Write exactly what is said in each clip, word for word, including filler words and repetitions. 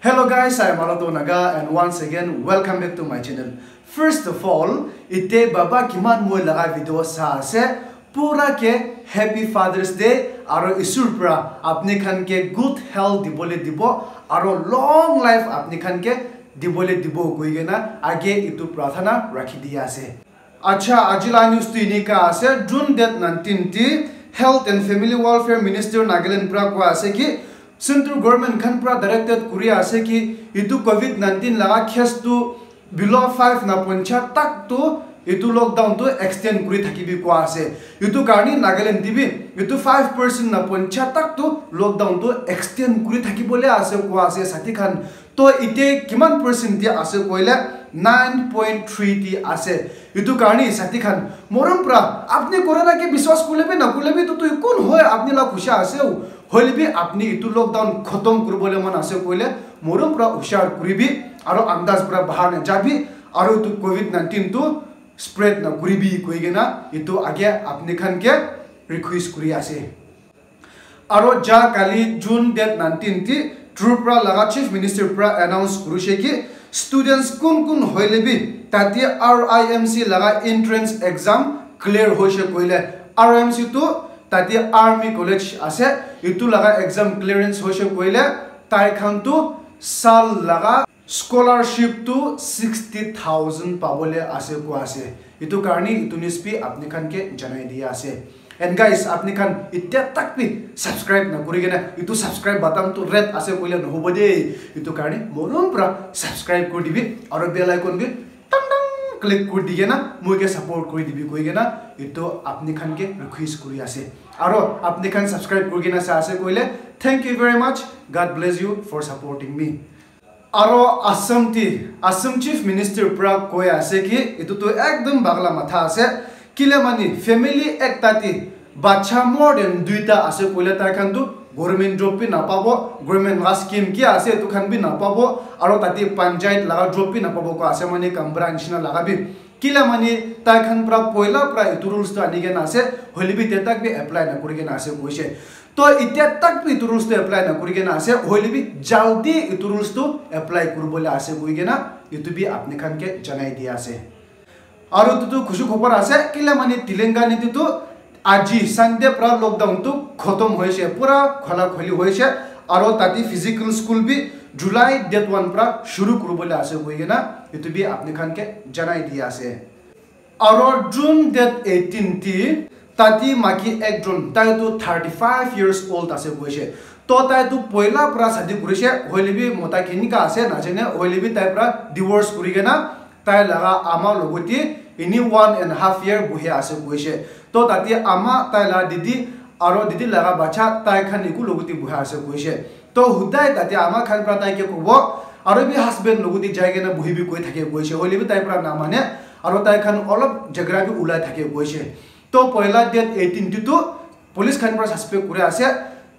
Hello guys, I am Alato Naga and once again welcome back to my channel. First of all, ite baba kiman moi laga video sa ase, pura ke Happy Father's Day aro Isur pra apni khan ke good health dibole dibo aro long life apni khan ke dibole dibo koi kena age itu prathana rakhi dia ase. Acha, aji la news tu enika ase, June date nineteen ti Health and Family Welfare Minister Nagaland pra koi ase ki Central Government khan pra directed kuri ase ki itu covid nineteen laga case tu below five na poncha tak tu itu lockdown tu extend kuri thakibi koi ase. Itu karni Nagaland ti bi itu five percent na poncha tak tu lockdown tu extend kuri thakibole ase koi ase sati khan. To ite kiman percent ti ase koile nine point three ti ase. Itu karni sati khan morom pra apni corona ke biswas kule bi na kule bi tu tu kun hoy apni la khusha ase. Hoile bi apni itu lockdown khotom kuribole mon ase koile morom pra hushar kuribi aro andaz pra bahar na jabi aro itu covid nineteen tu spread na kuribi koi kena itu age apni khan ke request kuri ase. Aro ja kali June date nineteen ti Tripura laga Chief Minister pra announce kurishe ki students kun kun hoile bi tate R I M C laga entrance exam clear hoishe koile, R I M C tu tate Army College ase, itu laga exam clearance hoishe koile tai khan tu sal laga scholarship tu sixty thousand pabole ase koi ase. Itu karni itu news bi apni khan ke janai dia ase. And guys, apni khan itya tak bi subscribe na kuri kena itu subscribe button tu red ase koile nohobo de. Itu karni morom pra subscribe kuri dibi aro bell icon bi tang tang click kuri di kena moi ke support kuri dibi koi kena itu apni khan ke request kuri ase. Aro apni khan subscribe kuri kena sa ase koile, thank you very much. God bless you for supporting me. Aro Assam ti, Assam Chief Minister pra koi ase ki itu tu ekdom bagla matha ase. Kile mani family ekta ti bacha more than duita ase koile tai khan tu government job bi napabo, government laga scheme ki ase itu khan bi napabo, aro tate panchayat laga job bi napabo koi ase mani Kamra nishina laga bi. Kila mani tai khan pra poila pra itu rules tu ani kena ase, hoile bi te tak bi apply na kuri kena ase koise. To itya tak bi itu rules tu apply na kuri kena ase, hoile bi jaldi itu rules tu apply kuribole ase koi kena itu bi apni khan ke janai dia ase. Aru itu tu khushi khobor ase, kila mani Telangana te tu aji Sunday pra lockdown tu khotom hoise, pura khola kholi hoise, aru tate physical school bi July date one pra shuru kuribole ase koi kena itu bi apni khan ke janai dia ase. Aro June date eighteen ti tati maki ekjon, tai tu thirty five years old ase koise. To tai tu poila pra shadi kurise, hoile bi mota kenika ase najane, hoile bi tai pra divorce kuri kena tai laga ama logoti ini one and half year buhi ase koise. To tati ama, tai la didi aro didi laga bacha tai khan iku logoti buhi ase koise. To hudai tate ama khan pra tai ke kobo, aro bi husband logoti jai kena buhi bi koi thake koise, hoile bi tai pra na mane, aro tai khan olop jhagra bi ulai thake koise. To poila date eighteen ti tu police khan pra suspect kuri ase,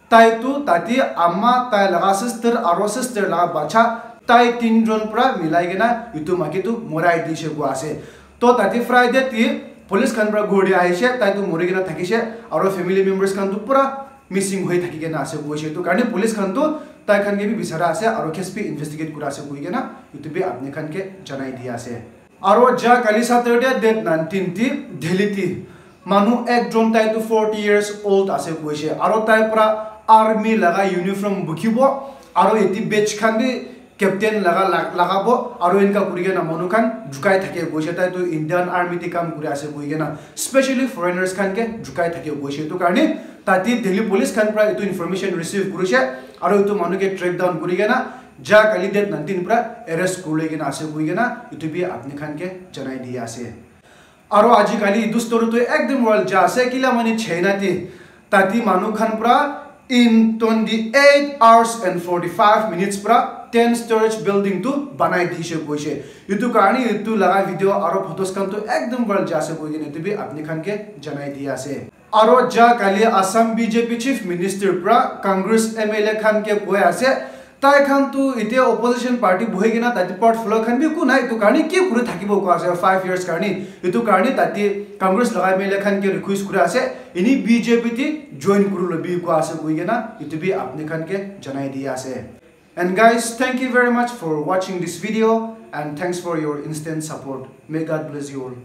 tai tu tate ama, tai laga sister aro sister laga bacha, tai tinjon pra milai kena itu maki tu morai dise koi ase. To tate Friday ti police khan pra ghor te ahishe, tai tu mori kena thakishe, aro family members khan tu pura missing hoi thaki kena ase koise. Etu karne police khan tu tai khan ke bi bichara ase aro case bi investigate kura ase koi kena etu bi apni khan ke janai dia ase. Aro ja kali Saturday date nineteen ti Delhi ti manu ekjon, tai tu forty years old ase koise, aro tai pura army laga uniform bukhibo aro eti badge khan bi captain laga lag-, lagabo aro enka kuri kena manu khan jukai thake koise, tai tu Indian army te kam kuri ase koi kena, specially foreigners khan ke jukai thake koise. Etu karne tate Delhi police khan pra etu information receive kurise aro etu manu ke track down kuri kena ja kali date nineteen pra arrest kuri kena ase koi kena etu bi apni khan ke janai dia ase. Aro aji kali etu story tu ekdom viral ja ase, kila mane China te tati manu khan pra in twenty eight hours and forty five minutes pra ten storage building tu banai dise koise. Etu karne etu laga video aro photos khan tu ekdom viral ja ase koi kena etu bi apni khan ke janai dia ase. Aro ja kali Assam B J P Chief Minister pra Congress M L A khan ke koi ase, tai khan tu etiya opposition party bohi kena tate portfolio khan bi eku nai, etu karne ki kuri thakibo koi ase five years karne. Etu karne tate Congress laga M L A khan ke request kuri ase, ini B J P te join kuri lobi koi ase koi kena etu bi apni khan ke janai dia ase. And guys, thank you very much for watching this video and thanks for your instant support. May God bless you all.